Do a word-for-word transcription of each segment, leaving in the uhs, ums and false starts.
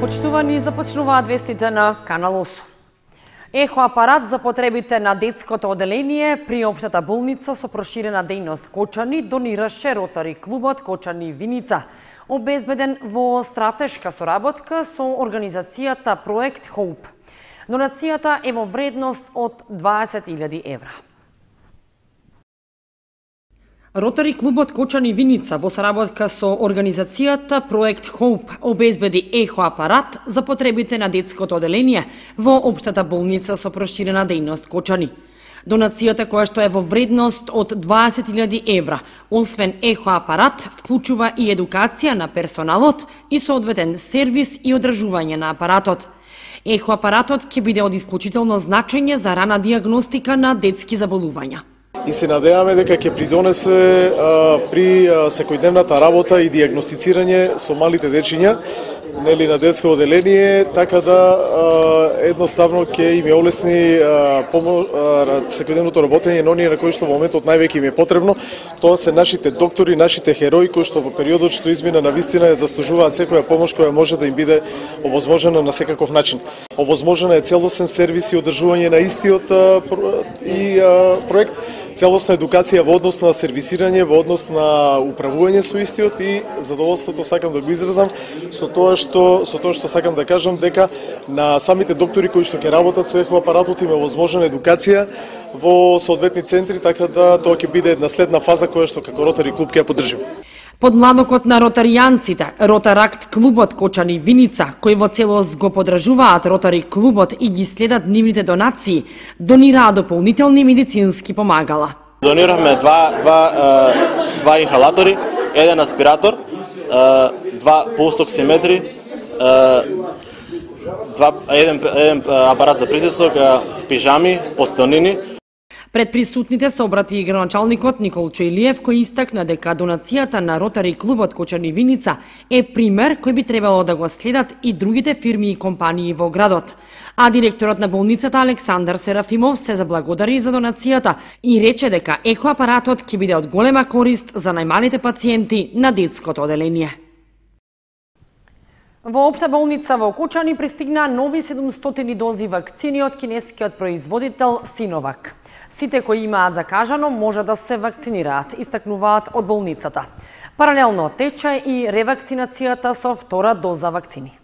Почитувани, започнуваат вестите на Канал осум. Ехо апарат за потребите на детското оделение при општата болница со проширена дејност Кочани донираше Ротари клубот Кочани Виница, обезбеден во стратешка соработка со организацијата Проект Хоуп. Донацијата е во вредност од дваесет илјади евра. Ротари клубот Кочани Виница во соработка со организацијата Проект Хоуп обезбеди ехо апарат за потребите на детското оделение во општата болница со проширена дејност Кочани. Донацијата, која што е во вредност од дваесет илјади евра, освен ехо апарат, вклучува и едукација на персоналот и соодветен сервис и одржување на апаратот. Ехо апаратот ќе биде од исклучително значење за рана диагностика на детски заболувања. И се надеваме дека ќе придонесе а, при а, секојдневната работа и диагностицирање со малите дечиња, нели, на детско оделение, така да а, едноставно ќе им е олесни а, помо, а, секојдневното работење на оние на кои што во моментот највеќе им е потребно. Тоа се нашите доктори, нашите херои кои што во периодот што измина на вистина ја заслужуваат секоја помош која може да им биде овозможена на секаков начин. Овозможена е целосен сервис и одржување на истиот а, и а, проект, целосна едукација во однос на сервисирање, во однос на управување со истиот и задоволството сакам да го изразам со тоа што со тоа што сакам да кажам дека на самите доктори кои што ќе работат со ехо апаратот им е возможна едукација во соодветни центри, така да тоа ќе биде една следна фаза која што како Ротари клуб ќе ја поддржиме. Подмладокот на ротаријанците, Ротаракт клубот Кочани Виница, кои во целост го поддржуваат Ротари клубот и ги следат нивните донации, донираа дополнителни медицински помагала. Дониравме два, два, два инхалатори, еден аспиратор, два пулсоксиметри, два, еден, еден апарат за притисок, пижами, постелнини. Пред присутните се обрати и граначалникот Никол Чојлиев, кој истакна дека донацијата на Ротари клубот Кочани Виница е пример кој би требало да го следат и другите фирми и компании во градот. А директорот на болницата Александар Серафимов се заблагодари за донацијата и рече дека ехо апаратот ќе биде од голема корист за најмалите пациенти на детското оделение. Во општа болница во Кочани пристигна нови седумстотини дози вакцини од кинескиот производител Синовак. Сите кои имаат закажано може да се вакцинираат, истакнуваат од болницата. Паралелно тече и ревакцинацијата со втора доза вакцини.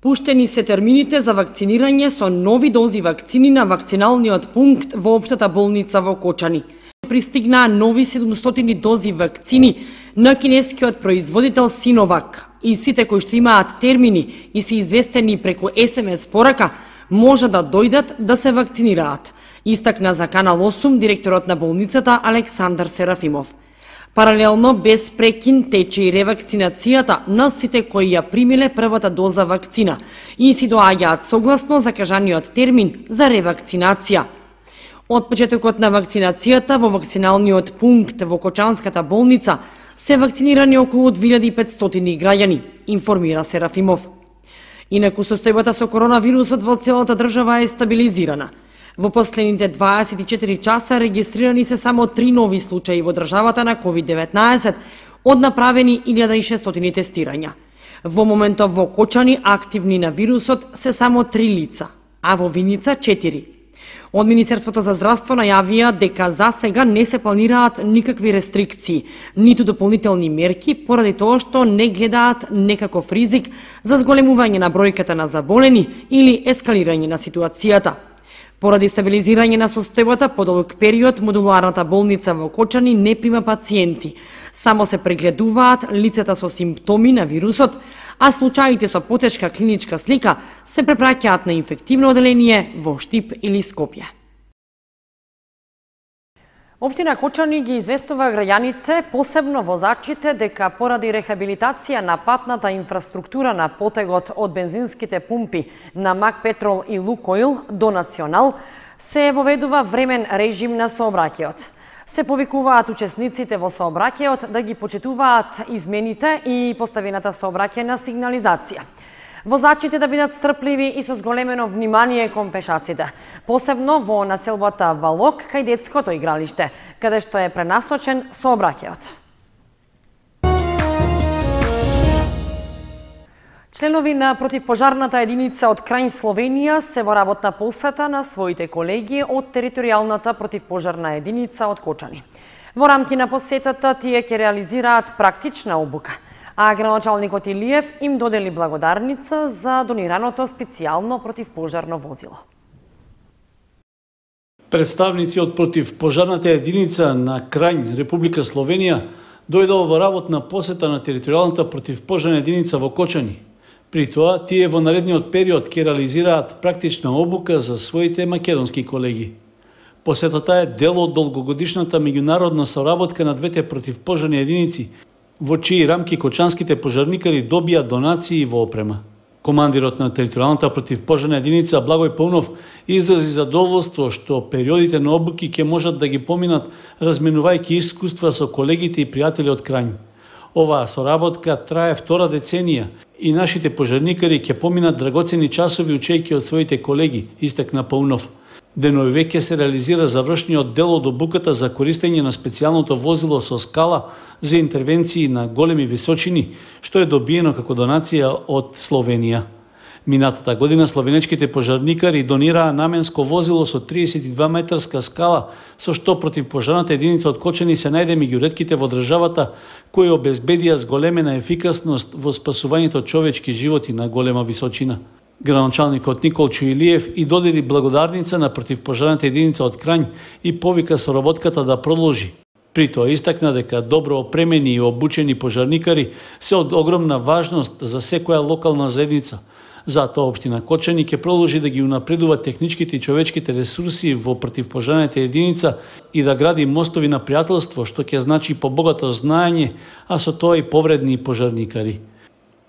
Пуштени се термините за вакцинирање со нови дози вакцини на вакциналниот пункт во општата болница во Кочани. Пристигнаа нови седумстотини дози вакцини на кинескиот производител Синовак и сите кои што имаат термини и се известени преку ес ем ес порака може да дојдат да се вакцинираат, истакна за Канал осум директорот на болницата Александар Серафимов. Паралелно без прекин тече и ревакцинацијата на сите кои ја примиле првата доза вакцина и си доаѓаат согласно закажаниот термин за ревакцинација. Од почетокот на вакцинацијата во вакциналниот пункт во Кочанската болница се вакцинирани околу две илјади и петстотини граѓани, информира Серафимов. Инаку состојбата со коронавирусот во целата држава е стабилизирана. Во последните дваесет и четири часа регистрирани се само три нови случаи во државата на ковид деветнаесет од направени илјада и шестстотини тестирања. Во моментов во Кочани активни на вирусот се само три лица, а во Виница четири. Од Министерството за здравство најавија дека за сега не се планираат никакви рестрикции, ниту дополнителни мерки, поради тоа што не гледаат некаков ризик за зголемување на бројката на заболени или ескалирање на ситуацијата. Поради стабилизирање на состојбата по долг период, модуларната болница во Кочани не прима пациенти. Само се прегледуваат лицата со симптоми на вирусот, а случаите со потешка клиничка слика се препраќаат на инфективно оделение во Штип или Скопје. Општина Кочани ги известува граѓаните, посебно возачите, дека поради рехабилитација на патната инфраструктура на потегот од бензинските пумпи на Мак Петрол и Лукойл до Национал, се воведува времен режим на сообраќајот. Се повикуваат учесниците во сообраќајот да ги почитуваат измените и поставената сообраќајна сигнализација. Возачите да бидат стрпливи и со зголемено внимание кон пешаците, посебно во населбата Валок кај детското игралиште, каде што е пренасочен сообраќајот. Членови на противпожарната единица од Крајн Словенија се во работна посета на своите колеги од територијалната противпожарна единица од Кочани. Во рамки на посетата тие ќе реализираат практична обука, а градоначалникот Илиев им додели благодарница за донираното специјално противпожарно возило. Представници од противпожарната единица на Крајн, Република Словенија, дојдоа во работна посета на територијалната противпожарна единица во Кочани. При тоа, тие во наредниот период ќе реализираат практична обука за своите македонски колеги. Посетата е дел од долгогодишната меѓународна соработка на двете противпожарни единици, во чии рамки кочанските пожарникари добија донации во опрема. Командирот на територијалната противпожарна единица Благој Паунов изрази задоволство што периодите на обуки ќе можат да ги поминат разменувајќи искуства со колегите и пријатели од Крајн. Оваа соработка трае втора деценија и нашите пожарникари ќе поминат драгоцени часови учејќи од своите колеги, истакна Паунов. Денови веќе се реализира завршниот дел од обуката за користење на специјалното возило со скала за интервенции на големи височини, што е добиено како донација од Словенија. Минатата година словенечките пожарникари донираа наменско возило со триесет и два метарска скала, со што противпожарната единица од Кочани се најде меѓу ретките во државата кои обезбедија зголемена ефикасност во спасувањето човечки животи на голема височина. Градоначалникот Николчо Илиев и додели благодарница на противпожарната единица од Крајн и повика соработката да продолжи. При тоа истакна дека добро опремени и обучени пожарникари се од огромна важност за секоја локална заедница. Затоа општина Кочани ќе продолжи да ги унапредува техничките и човечките ресурси во противпожарната единица и да гради мостови на пријателство, што ќе значи побогато знаење, а со тоа и повредни пожарникари.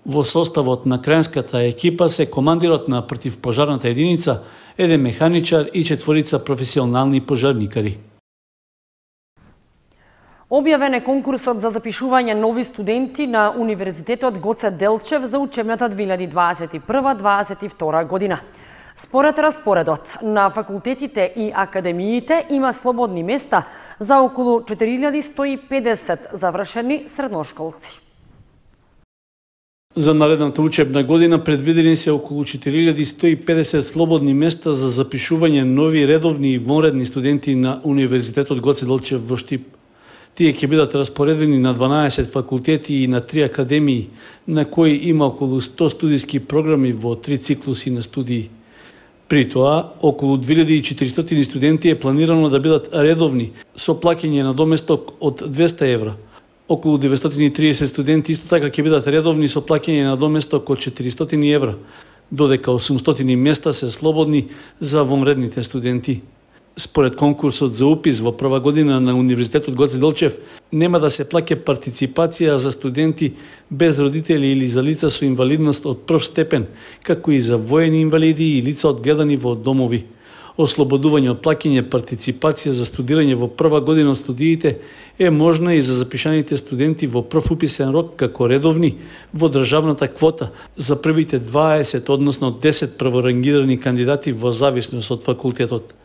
Во составот на крајнската екипа се командирот на противпожарната единица, еден механичар и четворица професионални пожарникари. Објавен е конкурсот за запишување нови студенти на Универзитетот Гоце Делчев за учебната две илјади дваесет и прва дваесет и втора година. Според распоредот на факултетите и академиите има слободни места за околу четири илјади сто и педесет завршени средношколци. За наредната учебна година предвидени се околу четири илјади сто и педесет слободни места за запишување нови редовни и вонредни студенти на Универзитетот Гоце Делчев во Штип. Тие ќе бидат распоредени на дванаесет факултети и на три академии, на кои има околу сто студиски програми во три циклуси на студии. При тоа, околу две илјади и четиристотини студенти е планирано да бидат редовни, со плаќање на доместок од двесте евра. Околу деветстотини и триесет студенти исто така ќе бидат редовни со плаќање на доместок од четиристотини евра, додека осумстотини места се слободни за вонредните студенти. Според конкурсот за упис во прва година на Универзитетот Гоце Делчев, нема да се плаќа партиципација за студенти без родители или за лица со инвалидност од прв степен, како и за воени инвалиди и лица одгледани во домови. Ослободување од плаќање партиципација за студирање во прва година од студиите е можно и за запишаните студенти во прв уписен рок како редовни во државната квота за првите дваесет, односно десет прворангирани кандидати во зависност од факултетот.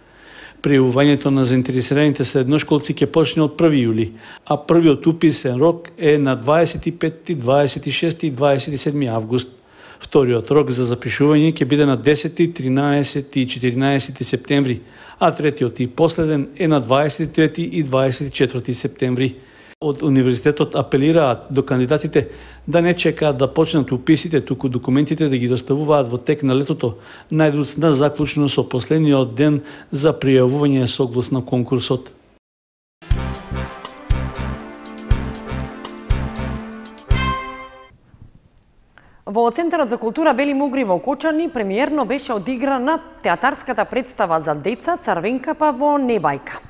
Пријавувањето на заинтересираните средношколци ќе почне од први јули, а првиот уписен рок е на дваесет и петти, дваесет и шести и дваесет и седми август. Вториот рок за запишување ќе биде на десети, тринаесети и четиринаесети септември, а третиот и последен е на дваесет и трети и дваесет и четврти септември. Од Универзитетот апелираат до кандидатите да не чекаат да почнат уписите, туку документите да ги доставуваат во тек на летото, најдоцна заклучно со последниот ден за пријавување согласно конкурсот. Во Центарот за култура Бели Мугри во Кочани премиерно беше одиграна театарската представа за деца Црвенкапа во Небајка.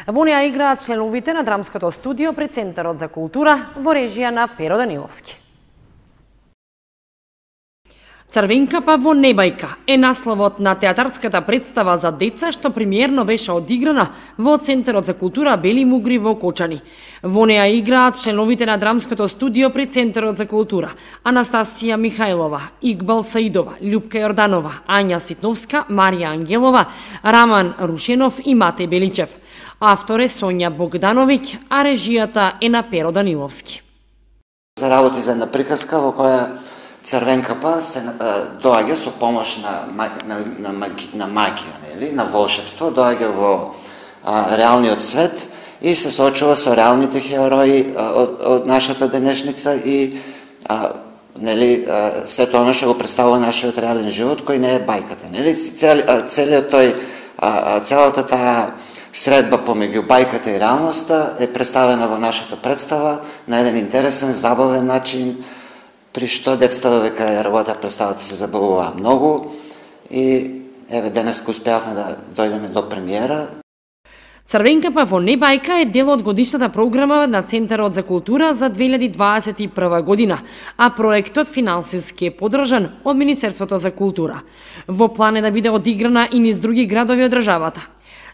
Во неа играат членовите на драмското студио при Центарот за култура во режија на Перо Даниловски. Црвенкапа во Небајка е насловот на театарската представа за деца што премиерно беше одиграна во Центарот за култура Бели Мугри во Кочани. Во неа играат членовите на драмското студио при Центарот за култура Анастасија Михајлова, Игбал Саидова, Љупка Јорданова, Ања Ситновска, Марија Ангелова, Раман Рушенов и Мате Беличев. Автор е Сонја Богдановиќ, а режијата е на Перо Даниловски. Се работи за една приказка во која Црвенката се доаѓа со помош на на на, на магија, нели, на волшебство, доаѓа во а, реалниот свет и се соочува со реалните херои од, од нашата денешница и а, нели сето оно што го представува нашиот реален живот кој не е бајката, нели, цел, целиот тој а, целата таа средба помеѓу бајката и реалноста е представена во нашата представа на еден интересен, забавен начин, при што децата додека ја работа представата се забавуваа многу и еве денеска успеавме да дојдеме до премиера. Црвенката во Небајка е дел од годишната програма на Центарот за култура за две илјади дваесет и прва година, а проектот финансиски е поддржан од Министерството за култура. Во план е да биде одиграна и низ други градови од државата.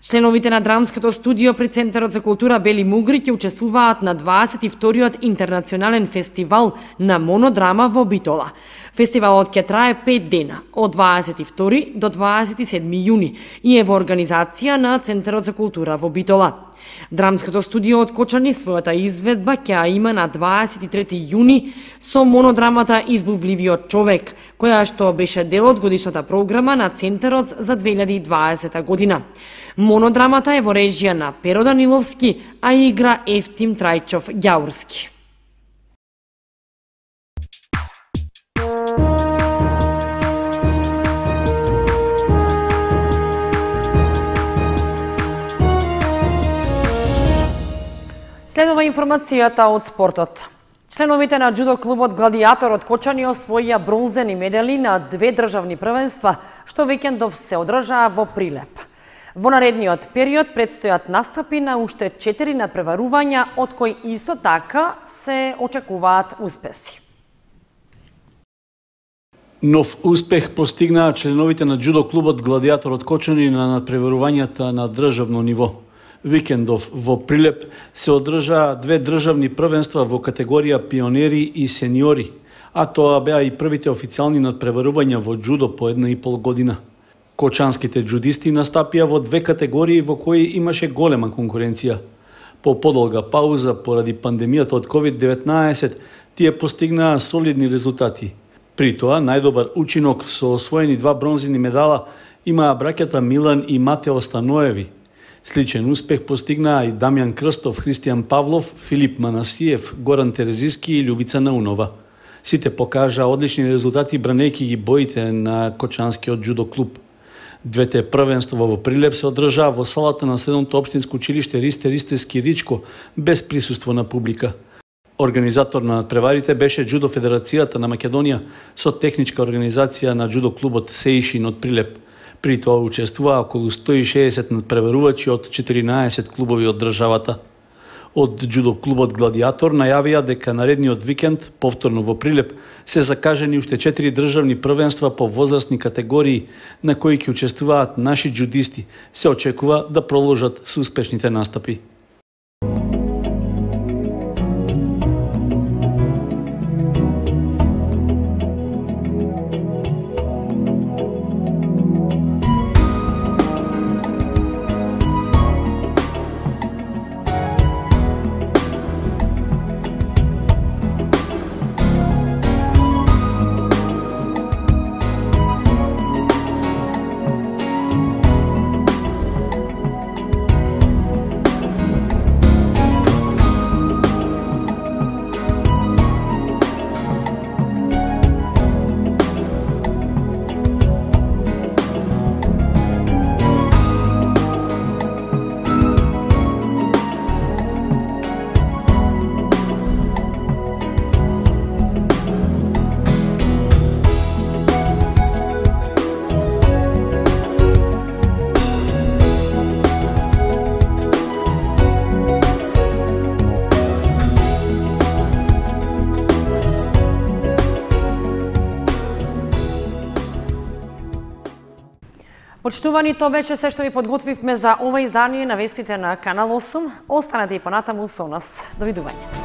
Членовите на драмското студио при Центарот за култура Бели Мугри ќе учествуваат на дваесет и вториот интернационален фестивал на монодрама во Битола. Фестивалот ќе трае пет дена, од дваесет и втори до дваесет и седми јуни и е во организација на Центарот за култура во Битола. Драмското студио од Кочани својата изведба ќе ја има на дваесет и трети јуни со монодрамата Избувливиот човек, која што беше дел од годишната програма на Центарот за две илјади и дваесета година. Монодрамата е во режија на Перо Даниловски, а игра Ефтим Трајчов Ѓаурски. Следува информацијата од спортот. Членовите на џудо клубот Гладиатор од Кочани освоија бронзени медали на две државни првенства, што викендов се одржаа во Прилеп. Во наредниот период предстојат настапи на уште четири надпреварувања, од кои исто така се очекуваат успеси. Нов успех постигнаа членовите на џудо клубот Гладиатор од Кочани на надпреварувањата на државно ниво. Викендов во Прилеп се одржаа две државни првенства во категорија пионери и сениори, а тоа беа и првите официјални надпреварувања во џудо по една и пол година. Кочанските џудисти настапија во две категории во кои имаше голема конкуренција. По подолга пауза поради пандемијата од ковид деветнаесет, тие постигнаа солидни резултати. При тоа, најдобар учинок со освоени два бронзени медала имаа браќата Милан и Матео Станоеви. Сличен успех постигнаа и Дамјан Крстов, Христијан Павлов, Филип Манасиев, Горан Терезиски и Љубица Наунова. Сите покажаа одлични резултати бранејќи ги боите на Кочанскиот џудо клуб. Двете првенства во Прилеп се одржаа во салата на седмото општинско училиште Ристе Ристески Ричко, без присуство на публика. Организатор на надпреварите беше Џудо Федерацијата на Македонија со техничка организација на џудо клубот Сеишин од Прилеп. При тоа учествуваа околу сто и шеесет надпреварувачи од четиринаесет клубови од државата. Од џудо клубот Гладиатор најавија дека наредниот викенд, повторно во Прилеп, се закажени уште четири државни првенства по возрастни категории на кои ќе учествуваат наши џудисти. Се очекува да продолжат со успешните настапи. Почитувани, тоа беше се што ви подготвивме за ова издание на вестите на Канал осум. Останете и понатаму со нас. Довидување.